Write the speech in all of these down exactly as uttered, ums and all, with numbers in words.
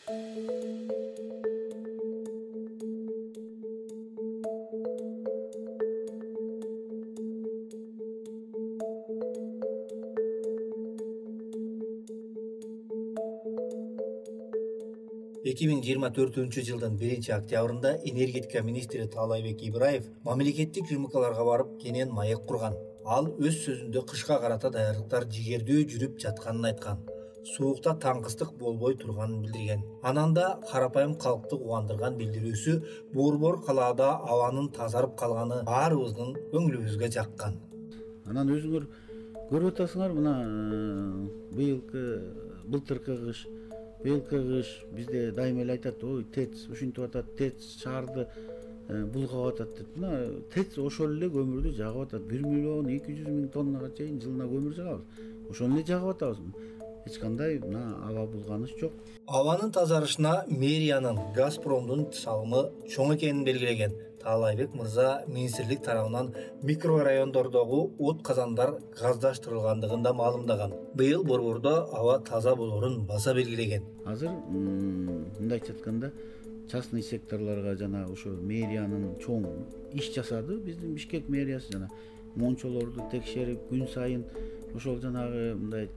эки миң жыйырма төртүнчү жылдын биринчи октябрында энергетика министри Таалайбек Ибраев мамлекеттик рынокторго барып кенен маек курган. Ал өз сөзүндө кышка карата даярдыктар жигердүү жүрүп жатканын айткан. Суукта таңкыстык болбой турганын билдирген. Анан да карапайым калкты кубандырган билдирүүсү Борбор калаада абанын тазарып калганы баарыбыздын көңүлүбүзгө жаккан. Анан өзүңөр көрүп атасыңар, мына быйылкы былтыркы кыш Быйылкы кыш бизде дайыма эле айтат, ой, ТЭЦ ушинтип атат, ТЭЦ шаарды булгап атат деп. Мына ТЭЦ ошол эле көмүрдү жагып атат. бир миллион эки жүз миң тоннага чейин жылына көмүр жагабыз. Ошону эле жагып атабыз. Эч кандай мына аба булганыш жок. Абанын тазарышына мэриянын, Газпромдун салымы чоң экенин белгилеген Таалайбек мырза министрлик тарабынан микрорайондордогу от казандар газдаштырылгандыгын да маалымдаган. Быйыл борбордо аба таза болорун баса белгилеген. Азыр мындайча айтканда частный секторлорго жана ошо мэриянын чоң иш жасады. Биздин Бишкек мэриясы жана мончолорду текшерип, күн сайын ошол жанагы мындай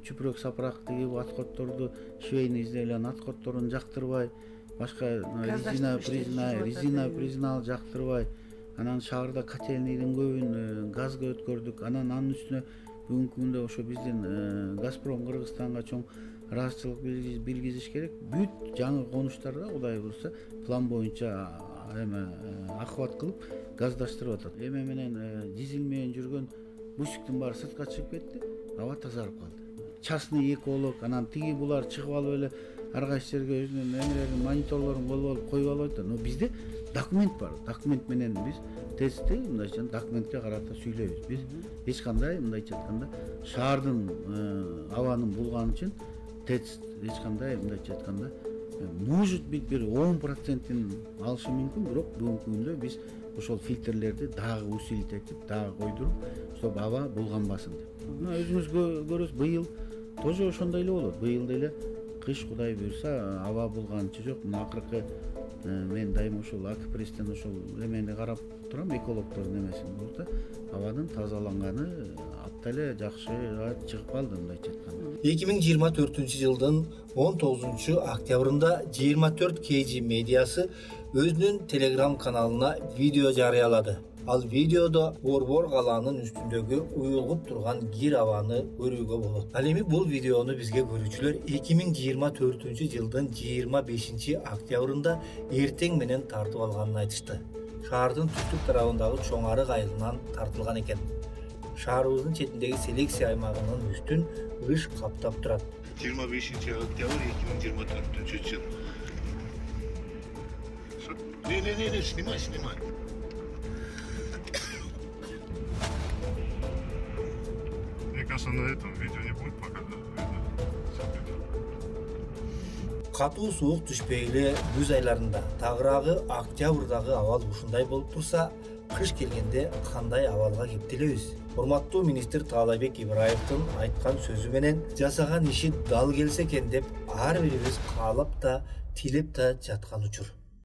чүпүрөк сапырак тигип аткотторду, швейный изделиянын аткотторун жактырбай, башка резина призна, резина признал жактырбай, анан шаарда котельныйдын көбүн газга өткөрдүк. Анан анын үстүнө бүгүнкү күндө ошо биздин Газпром Кыргызстанга чоң ыраазычылык билгизиш керек. Бүт жаңы конуштарда Кудай буюрса план боюнча эме акыбат кылып газдаштырып атат. Эме менен дизель менен жүргөн бусиктин баары сыртка чыгып кетти, аба тазарып калды. Частный эколог, анан тиги булар чыгып алып эле ар кайсы жерге өзүнүн эмелерин, мониторлорун колуп алып коюп алып атат. Но бизде документ бар. Документ менен биз ТЭЦти мындайча документке карата сүйлөйбүз. Биз эч кандай мындайча айтканда шаардын абанын булганы үчүн ТЭЦ эч кандай мындайча айтканда может быть бир он процентин алышы мүмкүн, бирок бүгүнкү күндө биз ошол фильтрлерди дагы усилить этип, дагы койдуруп, чтобы аба булганбасын деп. Мына өзүңүз көрөсүз, быйыл тоже ошондой эле болот. Быйыл деле кыш Кудай буюрса аба булганчы жок. Мына акыркы мен дайыма ошол Акпрестен ошол эмени карап турам, экологдордун эмесин болуп да, абанын тазаланганы апта эле жакшы чыгып калды мындайча айтканда. эки миң жыйырма төртүнчү жылдын он тогузунчу октябрында жыйырма төрт кей жи медиасы өзүнүн телеграм каналына видео жарыялады. Ал видеодо Борбор калаанын үстүндөгү уюлгуп турган кир абаны көрүүгө болот. Ал эми бул видеону бизге көрүүчүлөр эки миң жыйырма төртүнчү жылдын жыйырма бешинчи октябрында эртең менен тартып алганын айтышты. Шаардын түштүк тарабындагы чоң арык айылынан тартылган экен. Шаарыбыздын четиндеги селекция аймагынын үстүн ыш каптап турат. жыйырма бешинчи октябрь эки миң жыйырма төртүнчү жыл. Не-не-не, снимай, снимай. Мне кажется, на этом видео не будет пока. Катуу суук түшпөй эле күз айларында, тагыраагы октябрдагы абал ушундай болуп турса, кыш келгенде кандай абалга кептелебиз? Урматтуу министр Таалайбек Ибраевдин айткан сөзү менен жасаган иши дал келсе экен деп ар бирибиз каалап да, тилеп да жаткан учур.